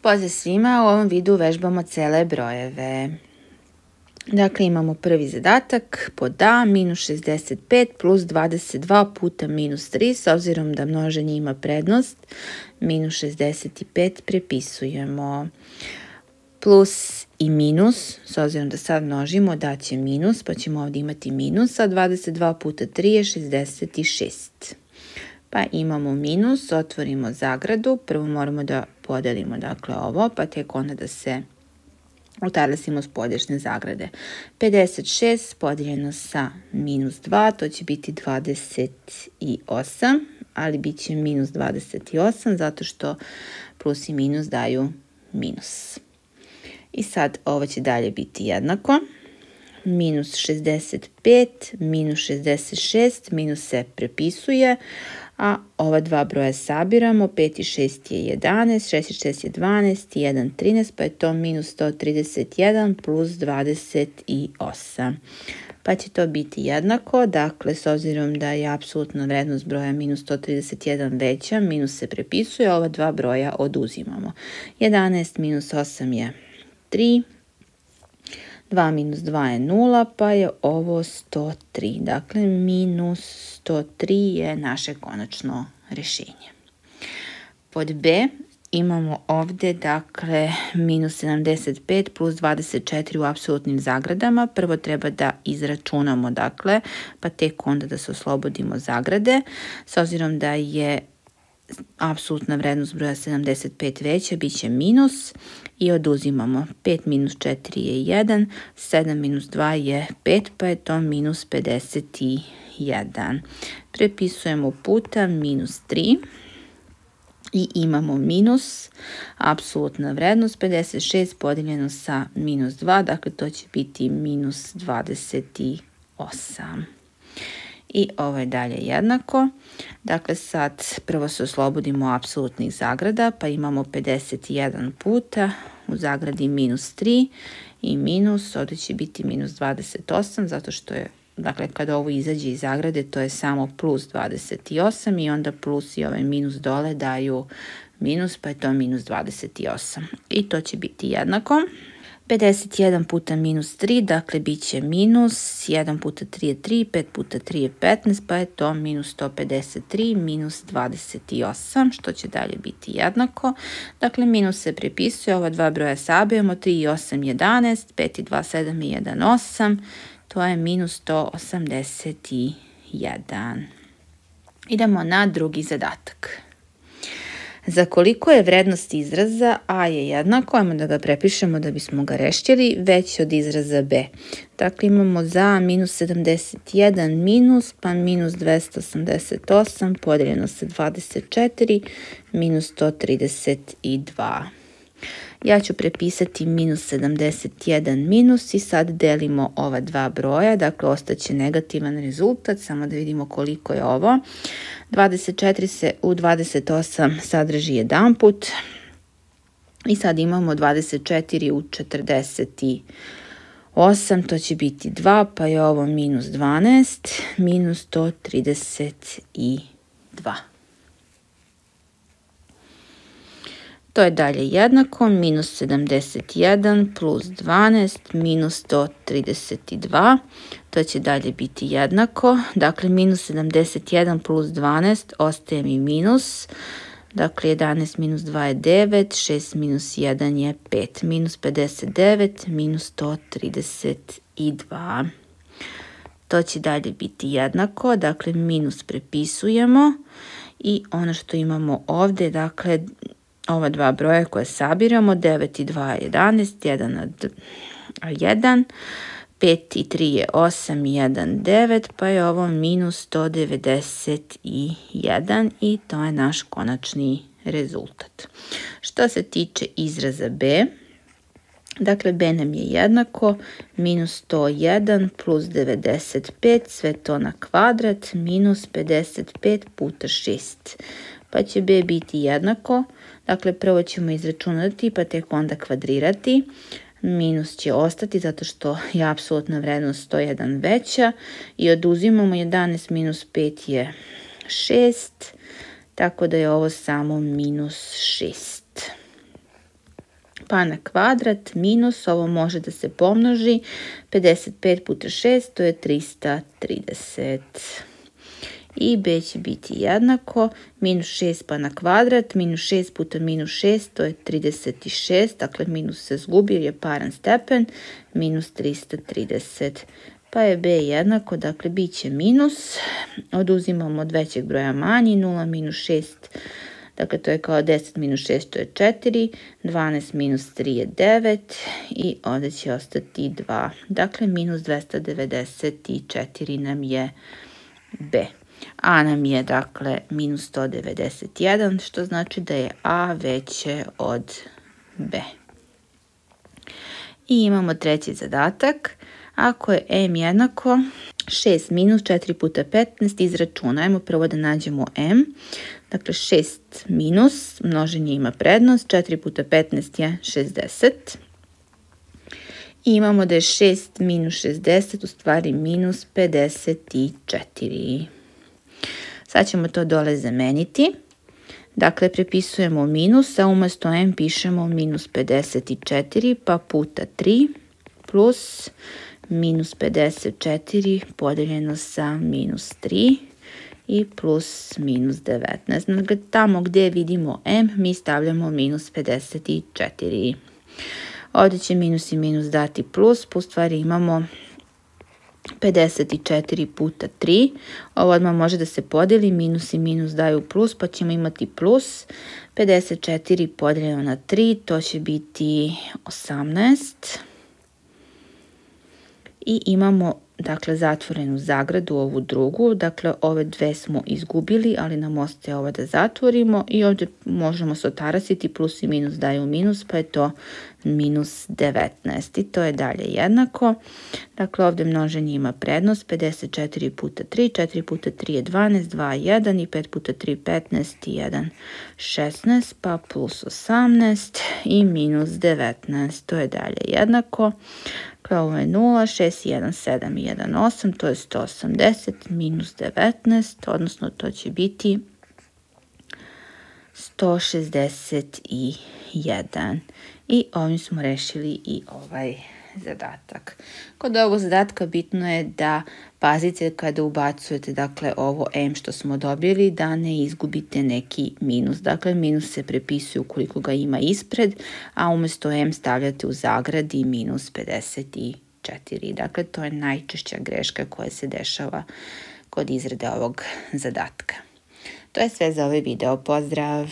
Pozdrav svima, u ovom videu vežbamo cele brojeve. Dakle, imamo prvi zadatak pod A, minus 65 plus 22 puta minus 3, s obzirom da množenje ima prednost, minus 65 prepisujemo. Plus i minus, s obzirom da sad množimo, daće minus, pa ćemo ovdje imati minus, a 22 puta 3 je 66. Pa imamo minus, otvorimo zagradu, prvo moramo da podelimo dakle ovo, pa tek onda da se utarlasimo s podješne zagrade. 56 podijeljeno sa minus 2, to će biti 28, ali bit će minus 28 zato što plus i minus daju minus. I sad ovo će dalje biti jednako. Minus 65, minus 66, minus se prepisuje, a ova dva broja sabiramo, 5 i 6 je 11, 6 i 6 je 12, 1, 13, pa je to minus 131 plus 28. Pa će to biti jednako, dakle, s obzirom da je apsolutna vrednost broja minus 131 veća, minus se prepisuje, ova dva broja oduzimamo. 11 minus 8 je 3. 2 minus 2 je 0, pa je ovo 103. Dakle, minus 103 je naše konačno rješenje. Pod B imamo ovdje, dakle, minus 75 plus 24 u apsolutnim zagradama. Prvo treba da izračunamo, dakle, pa tek onda da se oslobodimo zagrade. S obzirom da je apsolutna vrednost broja 75 veća, bit će minus i oduzimamo. 5 minus 4 je 1, 7 minus 2 je 5, pa je to minus 51. Prepisujemo puta minus 3 i imamo minus, apsolutna vrednost 56 podijeljeno sa minus 2, dakle to će biti minus 28. I ovo je dalje jednako. Dakle, sad prvo se oslobodimo apsolutnih zagrada, pa imamo 51 puta u zagradi minus 3 i minus, ovdje će biti minus 28, zato što je, dakle, kada ovo izađe iz zagrade, to je samo plus 28 i onda plus i ovaj minus dole daju minus, pa je to minus 28. I to će biti jednako. 51 puta minus 3, dakle bit će minus, 1 puta 3 je 3, 5 puta 3 je 15, pa je to minus 153, minus 28, što će dalje biti jednako. Dakle, minus se prepisuje, ova dva broja sabijemo, 3 i 8 11, 5 i 2 7 i 1 8, to je minus 181. Idemo na drugi zadatak. Za koliko je vrednost izraza A je jednako, ajmo da ga prepišemo da bismo ga rešćili, veći od izraza B. Dakle, imamo za minus 71 minus, pa minus 288 podijeljeno sa 24, minus 132. Ja ću prepisati minus 71 minus i sad delimo ova dva broja, dakle ostaće negativan rezultat, samo da vidimo koliko je ovo. 24 se u 28 sadrži jedan put i sad imamo 24 u 48, to će biti 2, pa je ovo minus 12, minus 132. To je dalje jednako, minus 71 plus 12 minus 132, to će dalje biti jednako, dakle minus 71 plus 12 ostaje mi minus, dakle 11 minus 2 je 9, 6 minus 1 je 5, minus 59 minus 132. To će dalje biti jednako, dakle minus prepisujemo i ono što imamo ovdje, dakle ova dva broja koje sabiramo, 9 i 2 je 11, 1 na 1, 5 i 3 je 8 i 1 9, pa je ovo minus 191 i to je naš konačni rezultat. Što se tiče izraza B, dakle B nam je jednako minus 101 plus 95, sve to na kvadrat, minus 55 puta 6. Pa će B biti jednako, dakle prvo ćemo izračunati pa tek onda kvadrirati. Minus će ostati zato što je apsolutna vrednost 101 veća i oduzimamo 11 minus 5 je 6, tako da je ovo samo minus 6. pa na kvadrat minus, ovo može da se pomnoži, 55 puta 6, to je 330. I b će biti jednako, minus 6 pa na kvadrat, minus 6 puta minus 6, to je 36, dakle minus se zgubi jer je paran stepen, minus 330. Pa je b jednako, dakle bit će minus, oduzimamo od većeg broja manji, 0 minus 6, dakle to je kao 10 minus 6, to je 4, 12 minus 3 je 9 i ovdje će ostati 2. Dakle, minus 294 nam je b. A nam je, dakle, minus 191, što znači da je a veće od b. I imamo treći zadatak. Ako je m jednako 6 minus 4 puta 15, izračunajmo. Prvo da nađemo m. Dakle, 6 minus, množenje ima prednost, 4 puta 15 je 60. I imamo da je 6 minus 60, u stvari minus 54. Sad ćemo to dole zameniti. Dakle, prepisujemo minus, a umjesto m pišemo minus 54, pa puta 3 plus minus 54 podeljeno sa minus 3 i plus minus 19. Dakle, tamo gdje vidimo m, mi stavljamo minus 54. Ovdje će minus i minus dati plus, u stvari imamo 54 puta 3. Ovo odmah može da se podeli, minus i minus daju plus, pa ćemo imati plus 54 podeljeno na 3, to će biti 18. I imamo, dakle, zatvorenu zagradu, ovu drugu, dakle, ove dve smo izgubili, ali nam ostaje ovo da zatvorimo i ovdje možemo se otarasiti, plus i minus daju minus, pa je to minus 19 i to je dalje jednako. Dakle, ovdje množenje ima prednost, 54 puta 3, 4 puta 3 je 12, 2, 1 i 5 puta 3, 15 i 1, 16, pa plus 18 i minus 19, to je dalje jednako. Dakle, ovo je 0, 6, 1, 7 i 1, 8, to je 180 minus 19, odnosno to će biti 161. I ovim smo rešili i ovaj zadatak. Kod ovog zadatka bitno je da pazite kada ubacujete, dakle, ovo m što smo dobili, da ne izgubite neki minus. Dakle, minus se prepisuje ukoliko ga ima ispred, a umjesto m stavljate u zagradi minus 54. Dakle, to je najčešća greška koja se dešava kod izrade ovog zadatka. To je sve za ovaj video. Pozdrav!